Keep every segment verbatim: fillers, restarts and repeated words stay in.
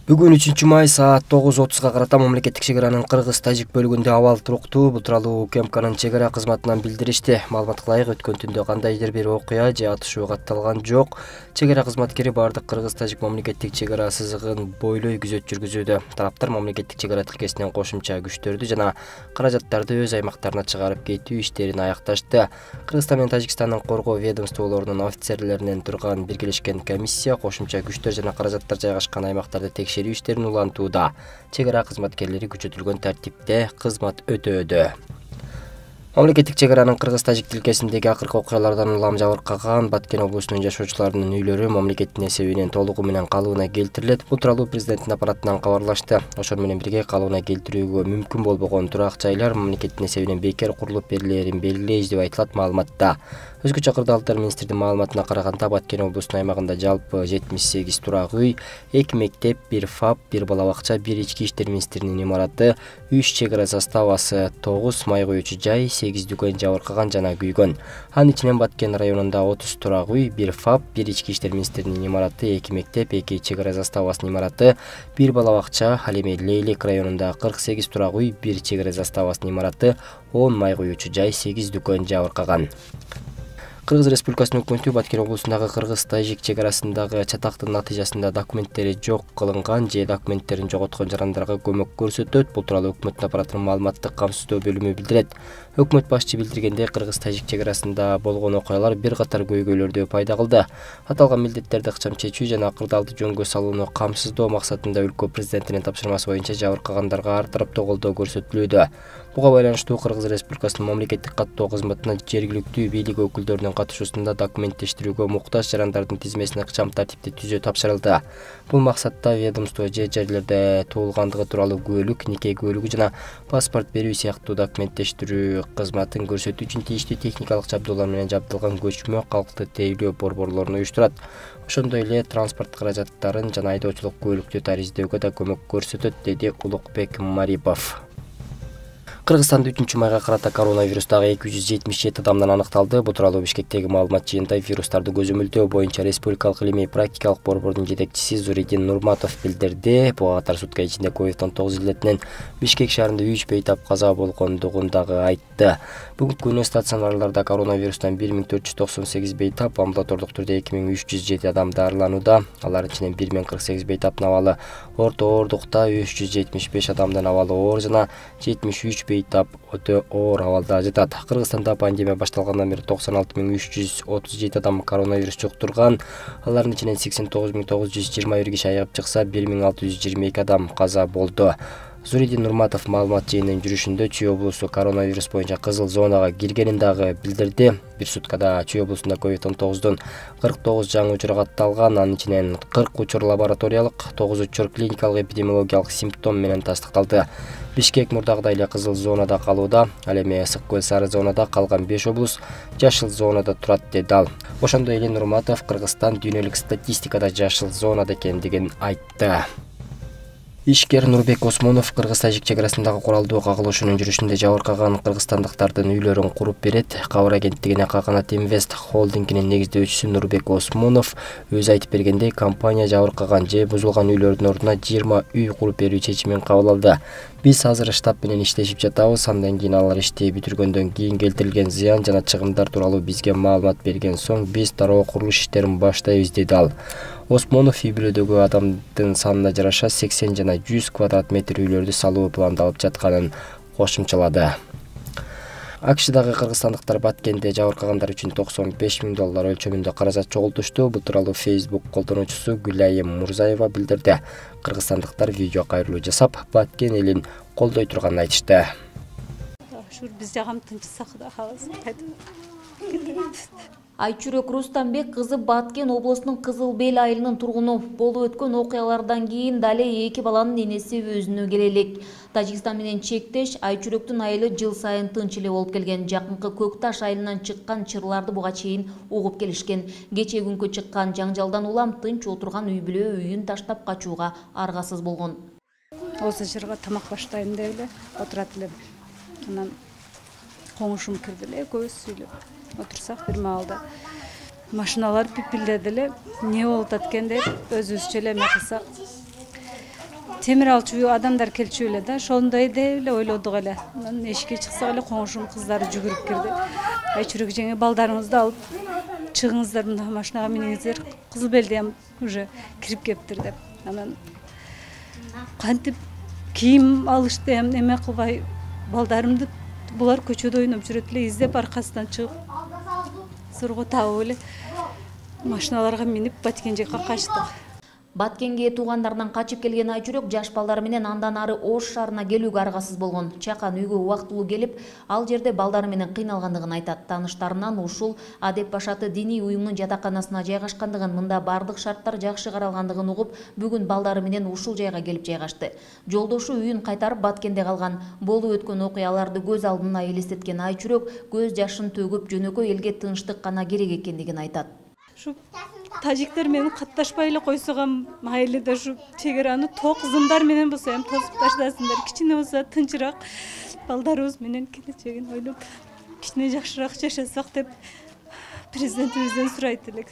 Бүгүн үчүнчү май саат тогуз отузга карата мамлекеттик чек аранын кыргыз-тажик бөлүгүндө абал туруктуу. Бул тууралуу УКМКнын чек ара кызматынан билдиришти. Маалыматка ылайык, өткөн түндө кандайдыр бир окуя же атышуу катталган жок. Чек ара кызматкери бардык кыргыз-тажик мамлекеттик чек ара сызыгын бойлой күзөт жүргүзүүдө. Тараптар мамлекеттик чек ара тилкесинен кошумча күчтөрдү жана каражаттарды өз аймактарына чыгарып кетүү иштерин аякташты. Кыргызстан менен Тажикстандын коргоо ведомстволорунун офицерлеринен турган биргелешкен комиссия кошумча күчтөр жана каражаттар жайгашкан аймактарды текшерүү иштерин улантууда. Чек ара кызматкерлери күчөтүлгөн тартипте кызмат өтөөдө. Мамлекеттик чек аранын кыргыз-тажик тилкесиндеги акыркы окуялардан улам жабыркаган Баткен облусунун жашоочуларынын үйлөрү мамлекеттин эсебинен толугу менен калыбына келтирилет. Бул тууралуу президенттин аппаратынан кабарлашты. Ошол менен бирге калыбына келтирүүгө мүмкүн болбогон турак жайлар мамлекеттин эсебинен бекер курулуп берилээрин белгилейбиз деп айтылат маалыматта. Өзгөчө кырдаалдар министрдин маалыматына караганда Баткен облусунун аймагында жалпы жетимиш сегиз турак үй, эки мектеп, бир ФАП, бир бала бакча, бир ички иштер министринин имараты, үч чек ара заставасы, тогуз май коюучу жай, сегиз дүкөн жабыркаган жана күйгөн. Анын ичинен Баткен районунда отуз турак үй, бир ФАП, бир ички иштер министринин имараты, эки мектеп, эки чек ара заставасынын имараты, бир бала бакча, ал эми Лейлек районунда кырк сегиз турак үй, бир чек ара заставасынын имараты, он май коюучу жай, сегиз дүкөн жабыркаган. Кыргыз Республикасынын өкмөтү Баткен облусундагы кыргыз-тажик чек арасындагы чатактын натыйжасында документтери жок кылынган же документтерин жоготкон жарандарга көмөк көрсөтөт. Бул тууралуу өкмөттүн аппаратынын маалыматтык камсыздоо бөлүмү билдирет. Өкмөт башчы билдиргендей, кыргыз-тажик чек арасында болгон окуялар бир катар көйгөйлөрдү пайда кылды. Аталган милдеттерди ыкчам чечүү жана кырдаалды жөнгө салууну камсыздоо максатында өлкө президентинин тапшырмасы боюнча жабыркагандарга ар тараптуу колдоо көрсөтүлүүдө. Буга байланыштуу Кыргыз Республикасынын мамлекеттик каттоо кызматына жергиликтүү бийлик өкүлдөрүнүн катышуусунда документтештирүүгө муктаж жарандардын тизмесин ыкчам тартипте түзүү тапшырылды. Бул максатта ведомство же жерлерде туулгандыгы тууралуу күбөлүк, нике күбөлүгү жана паспорт берүү сыяктуу документтештирүү кызматын көрсөтүү үчүн тийиштүү техникалык жабдуулар менен жабдылган көчмө калкты тейлөө борборлорун уюштурат. Ошондой эле транспорт каражаттарын жана айдоочулук күбөлүктү тариздөөгө да көмөк көрсөтөт, деди Улукбек Марипов. Кыргызстанда үчүнчү майга карата коронавирустагы эки жүз жетимиш жети адамдан аныкталды. Бул тууралуу Бишкектеги маалымат жыйынында вирустарды көзөмөлдөө боюнча Республикалык илимий практикалык борбордун жетекчиси Зуридин Нурматов билдирди. Буга катар сутка ичинде ковид он тогуз илетинен Бишкек шаарында үч бейтап каза болгондугун дагы айтты. Бүгүнкү күнү стационарларда коронавирустан бир миң төрт жүз токсон сегиз бейтап, амбулатордук түрдө эки миң үч жүз жети адам дарыланууда. Алардын ичинен бир миң кырк сегиз бейтаптын абалы орто оорундукта, үч жүз жетимиш беш адамдын абалы оор жана жетимиш үч бейтап өтө оор абалда жатат. Кыргызстанда пандемия башталгандан бери токсон алты миң үч жүз отуз жети адам коронавирус жуктурган. Алардын ичинен сексен тогуз миң тогуз жүз жыйырма бир киши айыгып чыкса, бир миң алты жүз жыйырма эки адам каза болду. Зуридин Нурматов маалымат жыйынынын жүрүшүндө Чүй облусу коронавирус боюнча кызыл зонага киргенин дагы билдирди. Бир суткада Чүй облусунда ковид он тогуздун кырк тогуз жаңы учуру катталган, анын ичинен кырк учур лабораториялык, тогуз учур клиникалык эпидемиологиялык симптом менен тастыкталды. Бишкек мурдагыдай эле кызыл зонада калууда, ал эми ысык көл сары зонада, калган беш облус жашыл зонада турат, деди ал. Ошондой эле Нурматов Кыргызстан дүйнөлүк статистикада жашыл зонада экендигин айтты. Ишкер Нурбек Осмонов кыргыз-тажик чек арасындагы куралдуу кагылышуунун жүрүшүндө жабыркаган кыргызстандыктардын үйлөрүн куруп берет. Кабар агенттигине Каканат Инвест холдингинин негиздөөчүсү Нурбек Осмонов өзү айтып бергендей, компания жабыркаган же бузулган үйлөрдүн ордуна жыйырма үй куруп берүү чечимин кабыл алды. Биз азыр штаб менен иштешип жатабыз. Андан кийин алар ишти бүтүргөндөн кийин келтирилген зыян жана чыгымдар тууралуу бизге маалымат берген соң биз дароо курулуш иштерин баштайбыз, деди ал. Осмонов үй бүлөдөгү адамдын санына жараша сексен жана жүз квадрат метр үйлөрдү салуу пландалып жатканын кошумчалады. АКШдагы кыргызстандыктар Баткенде жабыркагандар үчүн токсон беш миң доллар өлчөмүндө каражат чогултушту. Бул тууралуу Facebook колдонуучусу Гүлайым Мурзаева билдирди. Кыргызстандыктар видео кайрылуу жасап, Баткен элин колдой турганын айтышты. Ушур биз жагам тынчсак да калабыз. Айчүрөк Рустамбек кызы Баткен облусунун Кызыл Бел айылынын тургуну. Болуп өткөн окуялардан кийин дале эки баланын энеси өзүнө келе элек. Тажикстан менен чектеш Айчүрөктүн айылы жыл сайын тынч эле болуп келген. Жакынкы Көкташ айылынан чыккан чырларды буга чейин угуп келишкен. Кече күнкү чыккан жаңжалдан улам тынч отурган үй бүлө үйүн таштап качууга аргасыз болгон. Осы жырга тамак баштайм деп эле отурат элем. Анан коңушум кирди эле, экөөбүз сүйлөп отурсак бир маалда машиналар пипилдеди эле. Не болуп аткан деп өзүбүзчө эле эме кылсак, темир алчу адамдар келчү эле да, ошондой деп эле ойлодук эле. Анан эшикке чыксак эле коңшум кыздары жүгүрүп кирди. Айчүрөк жеңе, балдарыңызды алып чыгыңыздар, мына машинага миниңиздер, Кызыл Белдем уже кирип кептир деп. Анан кантип кийим алышты, эме кылбай балдарымды булар көчөдө ойноп жүрөт эле, издеп аркасынан чыгып сурго табып эле машиналарга минип Баткен жакка качтык. Баткенге туугандарынан качып келген Айчүрөк жаш балдары менен андан ары Ош шаарына келүүгө аргасыз болгон. Чакан үйгө убактылуу келип, ал жерде балдары менен кыйналгандыгын айтат. Тааныштарынан ушул Адеп Башаты диний уюмунун жатаканасына жайгашкандыгын, мында бардык шарттар жакшы каралгандыгын угуп, бүгүн балдары менен ушул жайга келип жайгашты. Жолдошу үйүн кайтарып Баткенде калган. Болуп өткөн окуяларды көз алдына элестеткен Айчүрөк көз жашын төгүп, жөнөкөй элге тынчтык гана керек экендигин айтат. Ушу тажиктер менен катташпай эле койсо майлы да, ушу чек араны ток зымдар менен болсо эми тосуп таштасындар, кичине болсо тынчыраак балдарыбыз менен келечегин ойлоп кичине жакшыраак жашасак деп президентибизден сурайт элек.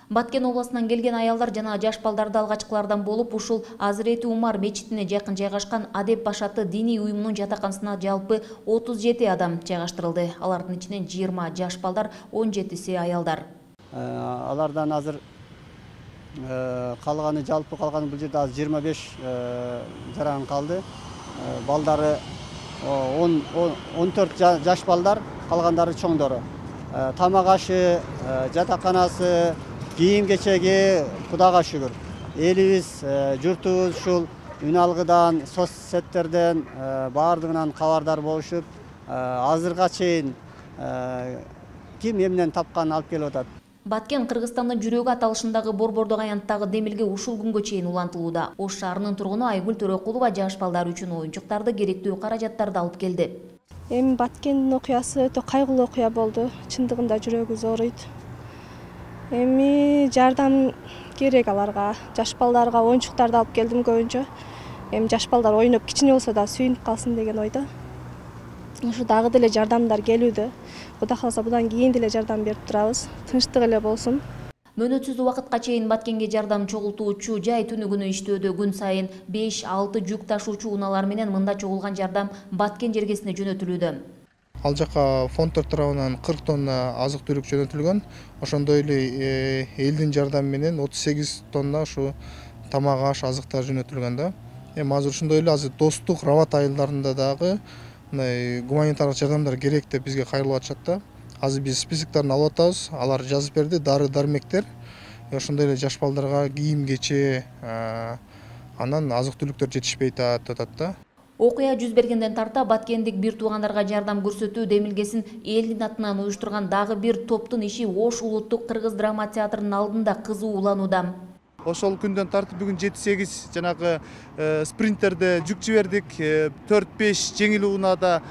Баткен областынан келген аялдар жана жаш балдарды алгачкылардан болуп, ушул Азирети Умар мечитине жакын жайгашкан Адеп Башаты диний уюмунун жатаканасына жалпы отуз жети адам жайгаштырылды. Алардын ичинен жыйырма жаш балдар, он жетиси аялдар. Алардан азыр калганы, жалпы калганы бул жерде азыр жыйырма беш жаран калды. Балдары он төрт жаш балдар, калгандары чоңдору. Тамак ашы, жатаканасы, кийим кечеги Кудайга шүгүр. Элибиз, журтубуз ушул үн алгыдан, соцсеттерден баардыгынан кабардар болушуп, азырга чейин ким эмнен тапканын алып келип атат. Баткен Кыргызстандын жүрөгү аталышындагы Борбордук аянттагы демилге ушул күнгө чейин улантылууда. Ош шаарынын тургуну Айгүл Төрөкулова жаш балдар үчүн оюнчуктарды, керектүү каражаттарды алып келди. Эми Баткендин окуясы өтө кайгылуу окуя болду. Чындыгында жүрөгү зооруйт. Эми жардам керек аларга. Жаш балдарга оюнчуктарды алып келдим көбүнчө. Эми жаш балдар ойноп кичине болсо да сүйүнүп калсын деген ойдо. Ушу дагы деле жардамдар келүүдө. Кудай кааласа будан кийин деле жардам берип турабыз. Тынчтык эле болсун. Мөөнөтсүз убакытка чейин Баткенге жардам чогултуучу жай түнү күнү иштөөдө. Күн сайын беш алты жүк ташуучу унаалар менен мында чогулган жардам Баткен жергесине жөнөтүлүүдө. Ал жака фонддор тарабынан кырк тонна азык түлүк жөнөтүлгөн. Ошондой эле элдин жардамы менен отуз сегиз тонна ушу тамак аш, азыктар жөнөтүлгөн да. Эми азыр ошондой эле азыр достук Рават айылдарында дагы гуманитардык жардамдар керек деп бизге кайрылып атышат да. Азыр биз списокторун алып атабыз. Алар жазып берди, дары-дармектер. Ошондой эле жаш балдарга кийим кече, анан азык түлүктөр жетишпейт атат да. Окуя жүз бергенден тарта Баткендик бир туугандарга жардам көрсөтүү демилгесин элдин атынан уюштурган дагы бир топтун иши Ош улуттук кыргыз драма театрынын алдында кызуу уланууда. Ошол күндөн тартып бүгүн жети сегиз жанагы спринтерде жүк жибердик, төрт беш жеңил унаада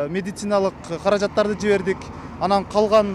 медициналык каражаттарды жибердик. Анан калган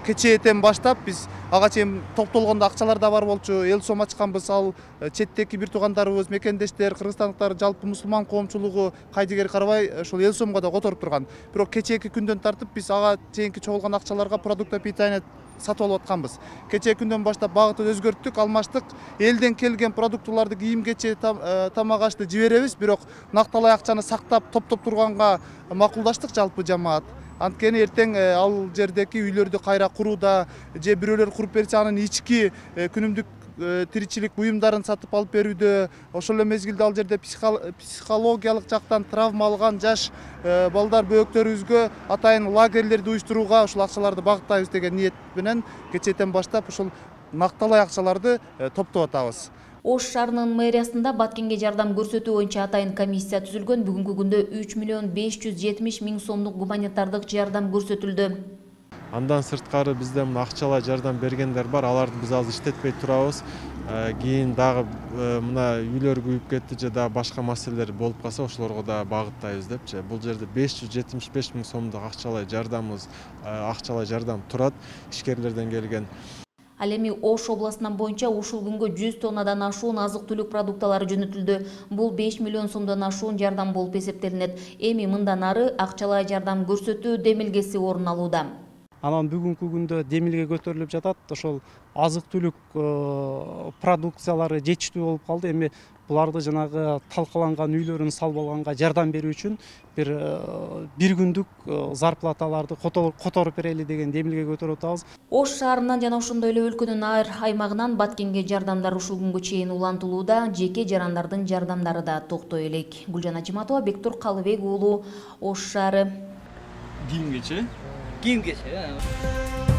кечээден баштап биз ага чейин топтолгондо акчалар да бар болчу, эл сом ачканбыз. Ал четтеки бир туугандарыбыз, мекендештер, кыргызстандыктар, жалпы мусулман коомчулугу кайдыгер карабай ошол эл сомго да которуп турган. Бирок кечээки күндөн тартып биз ага чейинки чогулган акчаларга продукт питания сатып алып атканбыз. Кечээ күндөн баштап багытты өзгөрттүк, алмаштык. Элден келген продуктуларды, кийим кече, тамак ашты жиберебиз, бирок накталай акчаны сактап, топтоп турганга макулдаштык жалпы жамаат. Анткени эртең ал жердеки үйлөрдү кайра курууда же бирөөлөр куруп берсе, анын ички күнүмдүк тиричилик буюмдарын сатып алып берүүдө, ошол эле мезгилде ал жерде психологиялык жактан травма алган жаш балдар бөөктөрүбүзгө атайын лагерлерди уюштурууга ушул акчаларды багыттайбыз деген ниет менен кечээден баштап ушул накталай акчаларды топтоп атабыз. Ош шаарынын мэриясында Баткенге жардам көрсөтүү боюнча атайын комиссия түзүлгөн. Бүгүнкү күндө үч миллион беш жүз жетимиш миң сомдук гуманитардык жардам көрсөтүлдү. Андан сырткары бизде мына акчалай жардам бергендер бар, аларды биз азыр иштетпей турабыз. Кийин дагы мына үйлөр күйүп кетти же дагы башка маселелер болуп калса, ошолорго да багыттайбыз депчи. Бул жерде беш жүз жетимиш беш миң сомдук акчалай жардамыбыз, акчалай жардам турат ишкерлерден келген. Ал эми Ош областынан боюнча ушул күнгө жүз тоннадан ашуун азык-түлүк продукталары жөнөтүлдү. Бул беш миллион сомдон ашуун жардам болуп эсептелинет. Эми мындан ары акчалай жардам көрсөтүү демилгеси орун алууда. Анан бүгүнкү күндө демилге көтөрүлүп жатат. Ошол азык-түлүк продукциялары жетиштүү болуп калды. Эми буларды жанагы талкаланган үйлөрүн салып алганга жардам берүү үчүн бир бир күндүк зарплаталарды которуп берели деген демилге көтөрүп атабыз. Ош шаарынан жана ошондой эле өлкөнүн ар аймагынан Баткенге жардамдар ушул күнгө чейин улантылууда, жеке жарандардын жардамдары да токтой элек. Гүлжан Ачыматова, Бектур Калыбек уулу, Ош шаары. Кийимгече? Кийимгече.